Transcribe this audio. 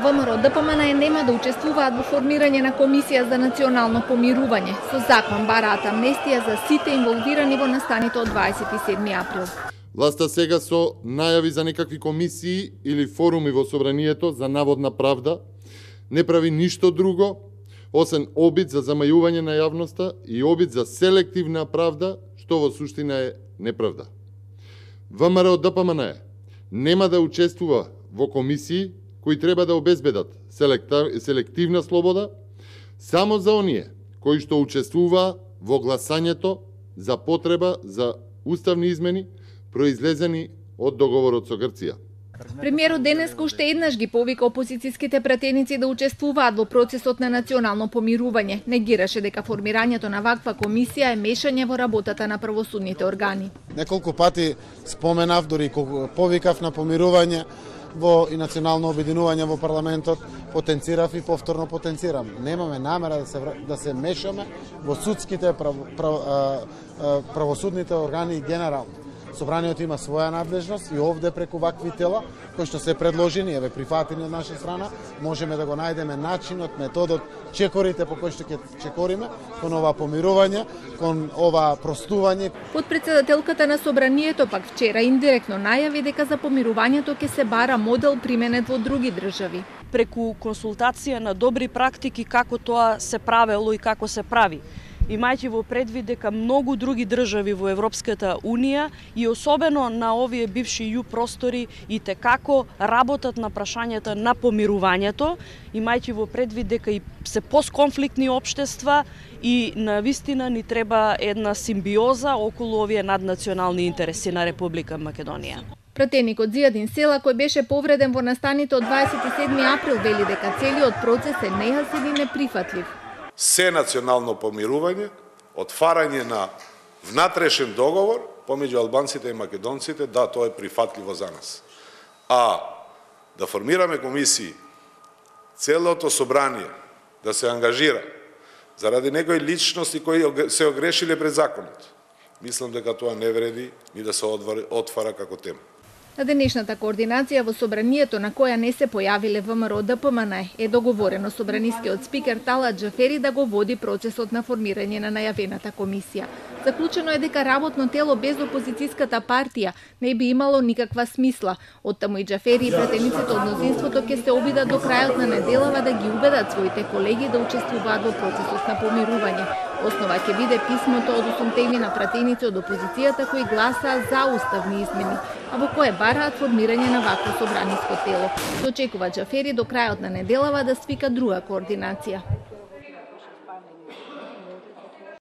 ВМРО-ДПМН нема да учествуваат во формирање на комисија за национално помирување. Со закон бараат амнестија за сите инволвирани во настаните од 27 април. Власта сега со најави за некакви комисии или форуми во собранието за наводна правда не прави ништо друго освен обид за замајување на јавноста и обид за селективна правда, што во суштина е неправда. ВМРО-ДПМН нема да учествува во комисии кои треба да обезбедат селективна слобода само за оние кои што учествуваа во гласањето за потреба за уставни измени произлезени од договорот со Грција. Премиерот денеска уште еднаш ги повика опозицијските пратеници да учествуваат во процесот на национално помирување. Негираше дека формирањето на ваква комисија е мешање во работата на правосудните органи. Неколку пати споменав, дури повикав на помирување во и национално обединување во парламентот, потенцирав и повторно потенцирам. Немаме намера да се мешаме во судските правосудните органи генерално. Собранието има своја надлежност и овде преку вакви тела, кои што се предложени, еве прифатени од наша страна, можеме да го најдеме начинот, методот, чекорите по кои што ќе чекориме кон ова помирување, кон ова простување. Подпредседателката на собранието пак вчера индиректно најави дека за помирувањето ќе се бара модел применет во други држави. Преку консултација на добри практики како тоа се правело и како се прави. Имајќи во предвид дека многу други држави во Европската Унија и особено на овие бивши ју простори и текако работат на прашањата на помирувањето, имајќи во предвид дека и се постконфликтни општества и навистина ни треба една симбиоза околу овие наднационални интереси на Република Македонија. Пратеникот Зијадин Села, кој беше повреден во настаните од 27 април, вели дека целиот процес е нејасен и неприфатлив. Се национално помирување, отварање на внатрешен договор помеѓу албанците и македонците, да, тоа е прифатливо за нас. А да формираме комисии, целото собрание да се ангажира заради некои личности кои се огрешиле пред законот, мислам дека тоа не вреди ни да се отвара како тема. На денешната координација во собранието, на која не се појавиле ВМРО-ДПМН, е договорено собранискиот спикер Талат Џафери да го води процесот на формирање на најавената комисија. Заклучено е дека работно тело без опозицијската партија не би имало никаква смисла. Оттаму и Џафери и пратениците од мнозинството ќе се обидат до крајот на неделава да ги убедат своите колеги да учествуваат во процесот на помирување. Основа ќе биде писмото од 8 на пратеници од опозицијата кои гласаа за уставни измени, а во кое бараат формирање на вакво собраниско тело. Се очекува Џафери до крајот на неделава да свика друга координација.